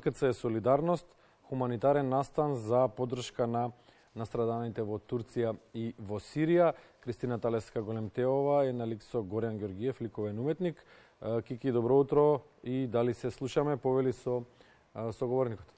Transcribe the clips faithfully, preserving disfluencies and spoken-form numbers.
Ка це е солидарност, хуманитарен настан за поддршка на настраданите во Турција и во Сирија. Кристина Талеска-Големтеова е на лик со Горијан Ѓоргиев, ликовен уметник. Кики, добро утро и дали се слушаме, повели со соговорникот.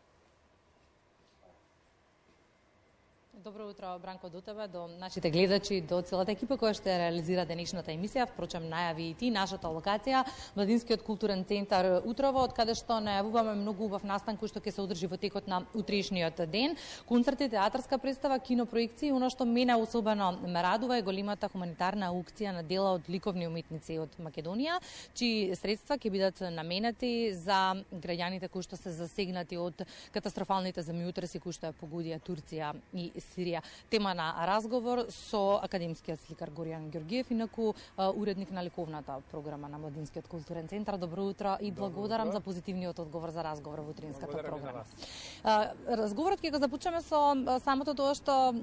Добро утро, Бранко, до тебе, до нашите гледачи, до целата екипа која ще реализира денешната емисија. Впрочем, најави и ти нашата локација, Младинскиот културен центар Утрово, од каде што најавуваме многу убав настан кој што ќе се одржи во текот на утрешниот ден. Концерти, театарска представа, кинопроекции, оно што мене особено ме радува е големата хуманитарна аукција на дела од ликовни уметници од Македонија, чии средства ќе бидат наменети за граѓаните кои што се засегнати од катастрофалните земјотреси кои што ја погодија Турција и Сирија. Тема на разговор со академскиот сликар Горијан Ѓоргиев, инаку уредник на ликовната програма на Младинскиот културен центар. Добро утро и благодарам за позитивниот одговор за разговор во утринската програма. Разговорот ќе го започнеме со самото тоа што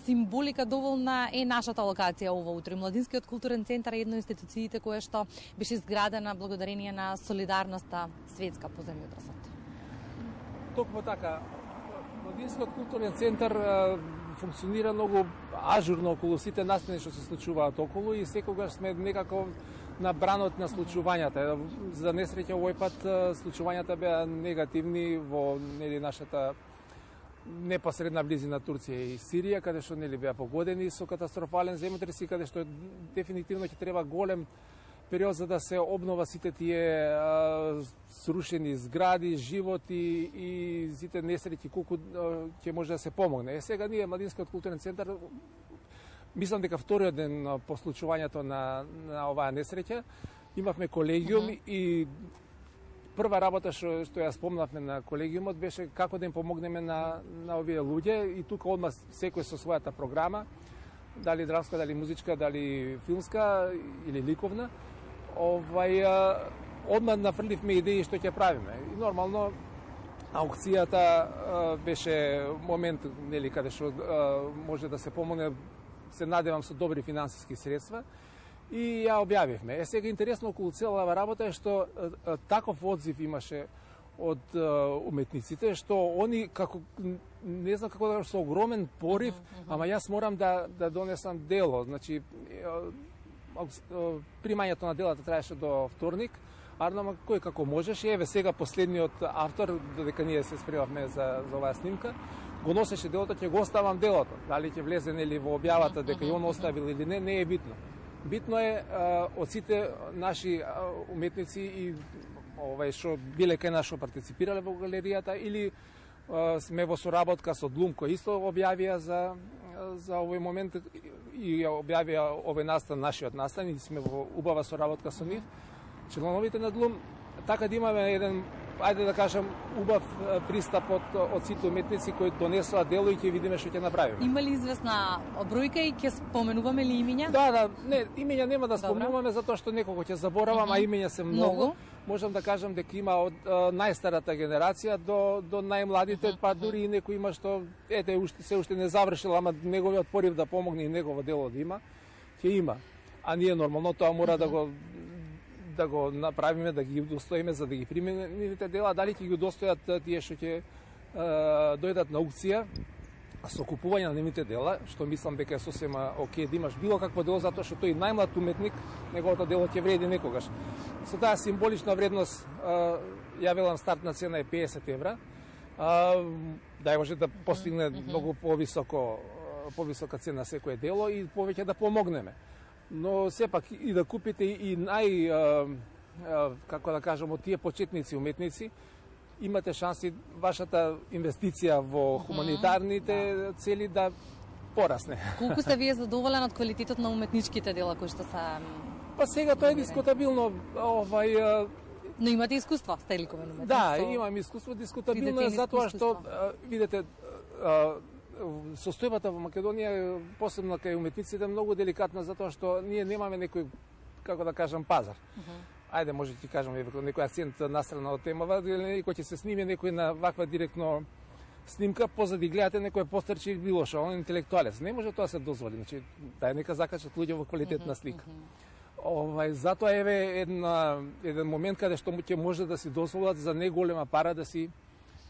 символика доволна е нашата локација ова утро. Младинскиот културен центар е една од институциите која што беше изградена благодарение на солидарноста светска по земјотресот. Токму така. Младинскиот културен центар функционира многу ажурно околу сите настани што се случуваат околу и секогаш сме некако на бранот на случувањата. За несреќа овој пат случувањата беа негативни во нели нашата непосредна близина Турција и Сирија, каде што нели беа погодени со катастрофален земјотрес и каде што дефинитивно ќе треба голем период за да се обнова сите тие а, срушени згради, животи и сите несреќи колку ќе може да се помогне. Е, сега ние Младинскиот културен центар мислам дека вториот ден по случувањето на, на оваа несреќа имавме колегиум uh -huh. и прва работа што што ја спомнавме на колегиумот беше како да им помогнеме на на овие луѓе и тука одма секој со својата програма, дали драмска, дали музичка, дали филмска или ликовна. Овај, одма нафрливме идеи што ќе правиме. И нормално аукцијата беше момент нели каде што може да се помогне, се надевам со добри финансиски средства и ја објавивме. Е сега интересно околу целава работа е што таков одзив имаше од уметниците што они како не знам како да со огромен порив, uh -huh, uh -huh. ама јас морам да да донесам дело, значи примањето на делата траеше до вторник, Арнама кој како можеше, еве сега последниот автор, додека ние се спремавме за за оваа снимка, го носеше делото, ќе го оставам делото. Дали ќе влезе нели во објавата дека и он оставил или не, не е битно. Битно е а, од сите наши а, уметници и овај што биле кај нас што партиципирале во галеријата или а, сме во соработка со Длум кој исто објавија за за овој момент и објавија овој настан, нашиот настан и сме во убава соработка со нив. Членовите на Длум, така да имаме еден, ајде да кажам, убав пристап од, од сите уметници кои донесоа дело и ќе видиме што ќе направиме. Има ли известна бројка и ќе споменуваме ли имиња? Да, да, не, имиња нема да споменуваме затоа што некого ќе заборавам, uh -huh. а имиња се многу. многу. Можам да кажам дека има од а, најстарата генерација до до најмладите, uh -huh. па дури и некој има што ете уште се уште не завршил, ама неговиот порив да помогне и негово дело да има, ќе има. А ние нормално тоа мора uh -huh. да го да го направиме, да ги удостоиме за да ги примеме нивните дела, дали ќе ги удостојат тие што ќе дојдат на аукција со купување на нивните дела, што мислам дека е сосема окей да имаш било какво дело, затоа што тој најмлад уметник, неговото дело ќе вреди некогаш. Со таа символична вредност, ја велам стартна цена е песет евра, да може да постигне многу повисоко повисока цена секое дело и повеќе да помогнеме. Но сепак и да купите и нај, а, а, како да кажам, од тие почетници уметници, имате шанси вашата инвестиција во хуманитарните да. цели да порасне. Колку сте вие задоволен од квалитетот на уметничките дела кои што се... Па сега тоа е дискутабилно, овај... А... Но имате искуство, сте ликовен уметник? Да, со... имам искуство, дискутабилно е затоа што, а, видите, а, состојбата во Македонија, посебно кај уметниците, е многу деликатна затоа што ние немаме некој, како да кажам, пазар. Uh -huh. Ајде, може ќе кажам некој акцент настрана од темава, некој ќе се сниме некој на ваква директно снимка, позади гледате некој постерче или било што, он интелектуалец. Не може тоа се дозволи, значи дај нека закачат луѓе во квалитетна слика. Uh -huh. Овај, затоа еве една еден момент каде што ќе може да си дозволат за неголема пара да си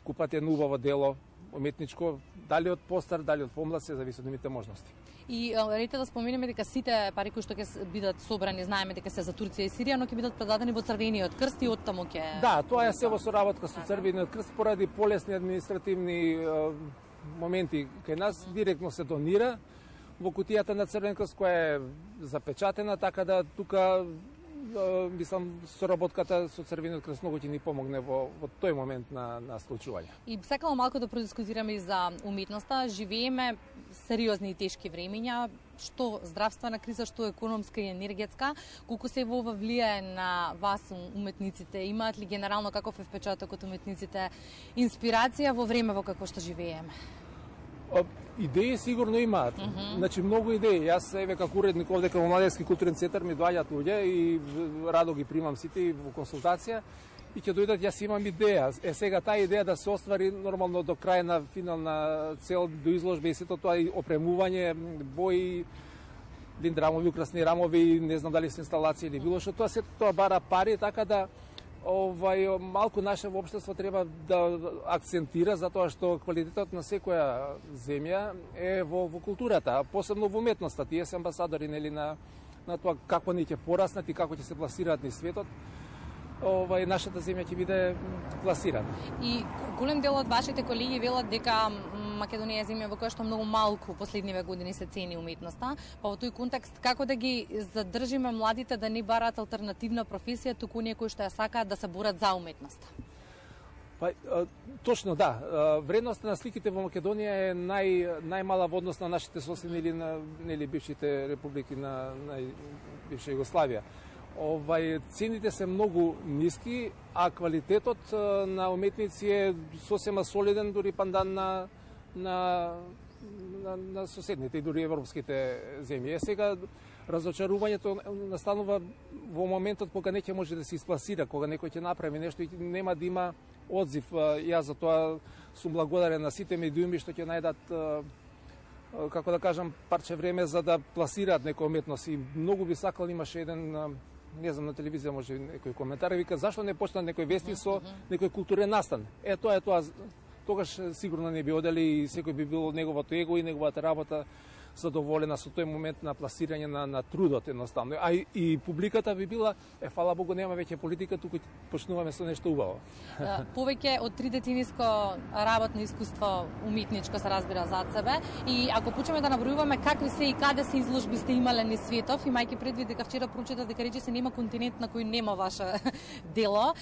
купат едно убаво дело уметничко, дали од постар, дали од помлад, се зависи од нивните можности. И рете да споменеме дека сите пари кои што ќе бидат собрани, знаеме дека се за Турција и Сирија, но ќе бидат предадени во Црвениот крст и оттаму ќе... Да, тоа е се во соработка со Црвениот крст поради полесни административни е, моменти. Кај нас директно се донира во кутијата на Црвен крст, која е запечатена, така да тука мислам соработката со Црвениот крст многу ќе ни помогне во, во тој момент на, на случување. И сакам малку да продискутираме и за уметноста. Живееме сериозни и тешки времења, што здравствена криза, што економска и енергетска. Колку се ова влијае на вас уметниците? Имаат ли генерално каков е впечатокот уметниците инспирација во време во какво што живееме? Идеи сигурно имаат. Mm -hmm. Значи многу идеи. Јас еве како уредник овде кај Младенски културен центар ми доаѓаат луѓе и радо ги примам сите во консултација и ќе дојдат, јас имам идеја. Е сега таа идеја да се оствари нормално до крајна финална цел до изложба и сето тоа и опремување, бои, диндрамови, украсни рамови, не знам дали се инсталации или било што, тоа сето тоа бара пари, така да овај малку наше општество треба да акцентира затоа што квалитетот на секоја земја е во, во културата, посебно во уметноста. Тие се амбасадори нели на на тоа како ни ќе пораснат и како ќе се пласираат низ светот. Овај нашата земја ќе биде пласирана. И голем дел од вашите колеги велат дека Македонија е земја во која што многу малку последниве години се цени уметноста. Па во тој контекст како да ги задржиме младите да не бараат алтернативна професија, туку оние кои што ја сакаат да се борат за уметноста? Па точно да. Вредноста на сликите во Македонија е нај најмала во однос на нашите соседни или на нели бившите републики на, на бивша Југославија. Овај цените се многу ниски, а квалитетот на уметници е сосема солиден, дури пандан на на на, на соседните и дури европските земји. Е сега разочарувањето настанува во моментот кога не ќе може да се испласира, кога некој ќе направи нешто и нема да има одзив. Јас за тоа сум благодарен на сите медиуми што ќе најдат, како да кажам, парче време за да пласираат некоја уметност. И многу би сакал, имаше еден, не знам, на телевизија може некој коментар, вика зашто не почна некој вести со некој културен настан. Е тоа е тоа. Тогаш сигурно не би одели и секој би бил неговото его и неговата работа задоволена со тој момент на пласирање на, на трудот едноставно. А и, и публиката би била, е, фала Богу, нема веќе политика, туку почнуваме со нешто убаво. Повеќе од три децениско работно искуство уметничко се разбира зад себе и ако почнеме да набројуваме какви се и каде се изложби сте имале низ светов, имајќи предвид дека вчера прочитав дека рече се нема континент на кој нема ваше дело,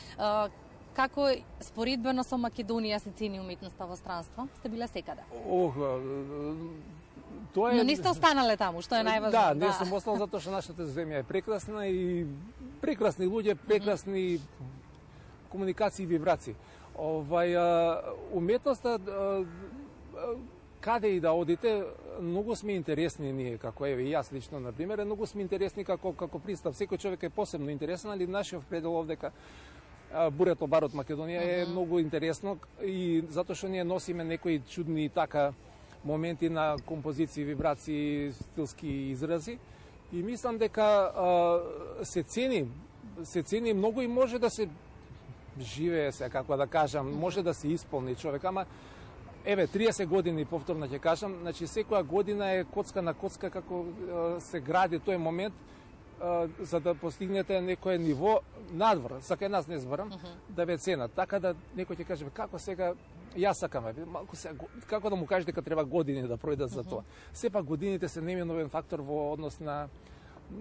како споредбено со Македонија се цени уметноста во странство? Сте биле секаде? Ох, тоа е... Но не сте останале таму, што е најважно. Да, не сум остал затоа што нашата земја е прекрасна и прекрасни луѓе, прекрасни комуникации и вибрации. Овај уметноста, каде и да одите, многу сме интересни ние, како еве и јас лично на пример, многу сме интересни како како пристап. Секој човек е посебно интересен, али нашиот предел овдека Бурето бар од Македонија е uh -huh. многу интересно и затоа што ние носиме некои чудни така моменти на композиции, вибрации, стилски изрази и мислам дека а, се цени, се цени многу и може да се живее се, како да кажам, може да се исполни човек, ама еве триесет години повторно ќе кажам, значи секоја година е коцка на коцка како а, се гради тој момент за да постигнете некое ниво надвор, за кај нас не зборам, uh -huh. да ве ценат. Така да некој ќе каже, како сега, јас сакам, малку сега, како да му кажеш дека треба години да пројдат за тоа. Сепак годините се неминовен фактор во однос на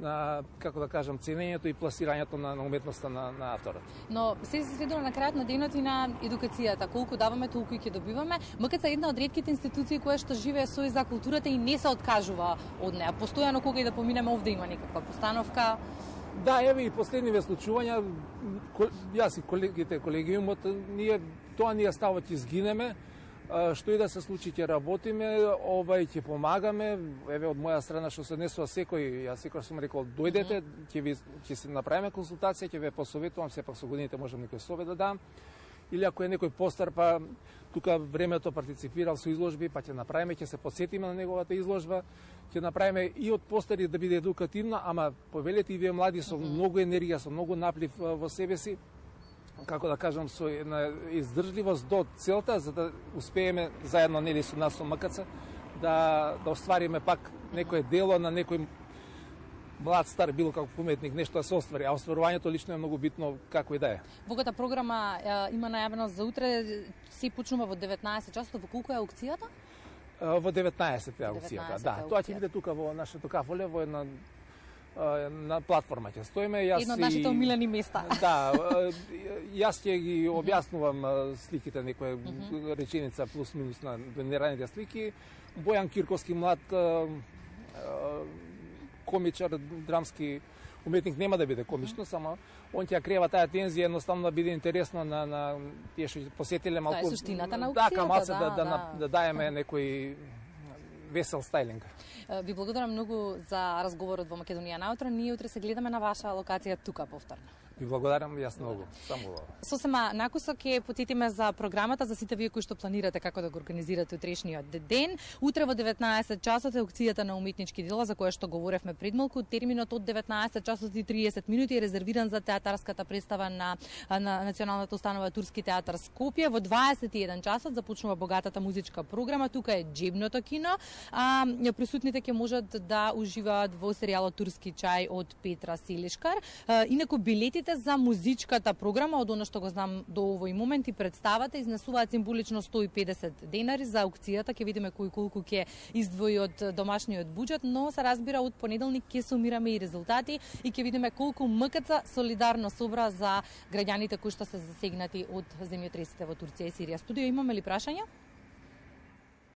на, како да кажам, ценењето и пласирањето на, на уметноста на, на авторот. Но се се сведува на крајот на денот и на едукацијата. Колку даваме, толку и ќе добиваме. МКЦ е една од ретките институции која што живее со и за културата и не се откажува од неа. Постојано кога и да поминеме овде има некаква постановка. Да, еве и последниве случувања, јас и колегите, колегиумот, ние тоа ние ставот изгинеме. Што и да се случи, ќе работиме, овај ќе помагаме. Еве од моја страна што се однесува секој, јас секој сум рекол дојдете, ќе ви ќе се направиме консултација, ќе ве посоветувам, сепак со годините можам некој совет да дам. Или ако е некој постар, па тука времето партиципирал со изложби, па ќе направиме, ќе се посетиме на неговата изложба, ќе направиме и од постари да биде едукативна, ама повелете и вие млади со многу енергија, со многу наплив во себе си, како да кажам, со една издржливост до целта, за да успееме заедно нели со нас со МКЦ да да оствариме пак некое дело на некој млад, стар, било како уметник, нешто да се оствари, а остварувањето лично е многу битно како и да е. Богата програма е, има најавено за утре, се почнува во деветнаесет часот, во колку е аукцијата? Во деветнаесет е аукцијата, да. Тоа ќе биде тука во нашето кафоле, во една на платформа ќе стоиме. Јас едно од нашите омилени места. Да, јас ќе ги објаснувам сликите, некоја реченица плюс минус на генераните слики. Бојан Кирковски, млад комичар, драмски уметник, нема да биде комично, само он ќе крева таа тензија, едноставно да биде интересно на на тие што посетиле малку. Тоа е суштината на аукцијата, да, камаца да, да, да, да, да, да даеме некој весел стайлинг. Ви благодарам многу за разговорот во Македонија наутро. Ние утре се гледаме на ваша локација тука повторно. Ви благодарам, јас многу. Само Сосема накусок ќе потетиме за програмата за сите вие кои што планирате како да го организирате утрешниот ден. Утре во деветнаесет часот е аукцијата на уметнички дела за која што говоревме пред малку. Терминот од деветнаесет часот и триесет минути е резервиран за театарската представа на, на Националната установа Турски театар Скопје. Во дваесет и еден часот започнува богатата музичка програма. Тука е џебното кино. А присутните ќе можат да уживаат во серијалот Турски чај од Петра Селишкар. А, инаку билетите за музичката програма, од она што го знам до овој момент, и представата изнесуваат символично сто и педесет денари. За аукцијата ќе видиме кој колку ќе издвои од домашниот буџет, но се разбира од понеделник ќе сумираме и резултати и ќе видиме колку МКЦ солидарно собра за граѓаните кои што се засегнати од земјотресите во Турција и Сирија. Студио, имаме ли прашања?